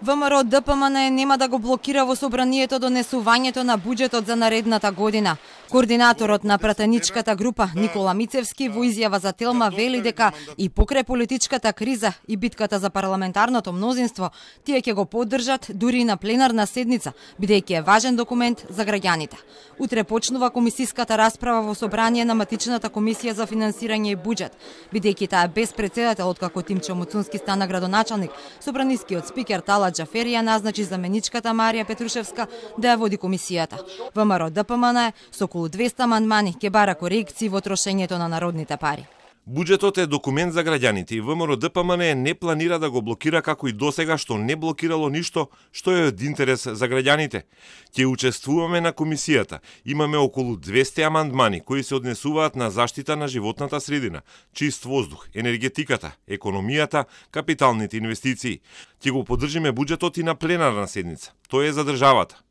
ВМРО ДПМН нема да го блокира во собранието донесувањето на буџетот за наредната година. Координаторот на пратеничката група Никола Мицевски во изјава за Телма вели дека и покрај политичката криза и битката за парламентарното мнозинство, тие ќе го поддржат дури и на пленарна седница, бидејќи е важен документ за граѓаните. Утре почнува комисиската расправа во собрание на матичната комисија за финансирање и буџет, бидејќи таа без председател откако Тимчо Муцунски стана градоначалник, собранискиот спикер Тала Џаферија назначи заменичката Марија Петрушевска да ја води комисијата. ВМРО ДПМН со околу 200 амандмани ќе бара корекции во трошењето на народните пари. Буџетот е документ за граѓаните и ВМРО ДПМН не планира да го блокира како и досега што не блокирало ништо што е од интерес за граѓаните. Ќе учествуваме на комисијата. Имаме околу 200 амандмани кои се однесуваат на заштита на животната средина, чист воздух, енергетиката, економијата, капиталните инвестиции. Ќе го поддржиме буџетот и на пленарна седница. Тој е за државата.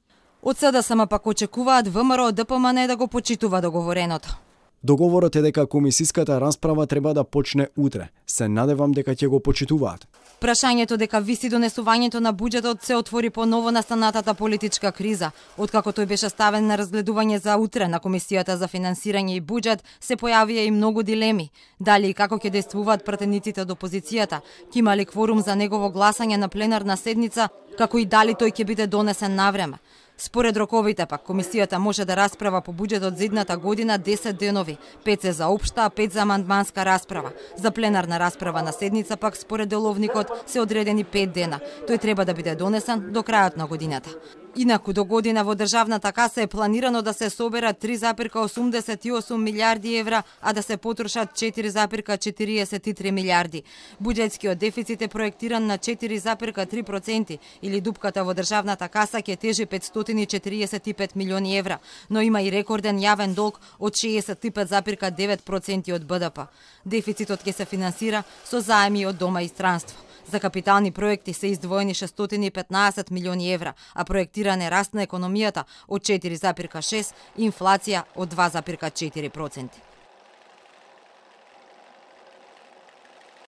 Од СДСМ пак очекуваат ВМРО ДПМН да го почитува договореното. Договорот е дека комисиската расправа треба да почне утре. Се надевам дека ќе го почитуваат. Прашањето дека виси донесувањето на буџетот се отвори по ново настанатата политичка криза. Откако тој беше ставен на разгледување за утре на Комисијата за финансирање и буџет, се појавија и многу дилеми. Дали и како ќе действуваат пратениците од опозицијата, ќе има ли кворум за негово гласање на пленарна седница, како и дали тој ќе биде донесен навреме. Според роковите пак, комисијата може да расправа по буџетот за идната година 10 денови, 5 се за општа, а 5 за амандманска расправа. За пленарна расправа на седница пак според деловникот се одредени 5 дена. Тој треба да биде донесен до крајот на годината. Инаку до година во државната каса е планирано да се соберат 3,88 милиарди евра, а да се потрошат 4,43 милиарди. Буџетскиот дефицит е проектиран на 4,3% или дупката во државната каса ќе тежи 545 милиони евра, но има и рекорден јавен долг од 65,9% од БДП. Дефицитот ќе се финансира со заеми од дома и странство. За капитални проекти се издвоени 615 милиони евра, а проектиран е раст на економијата од 4,6 и инфлација од 2,4%.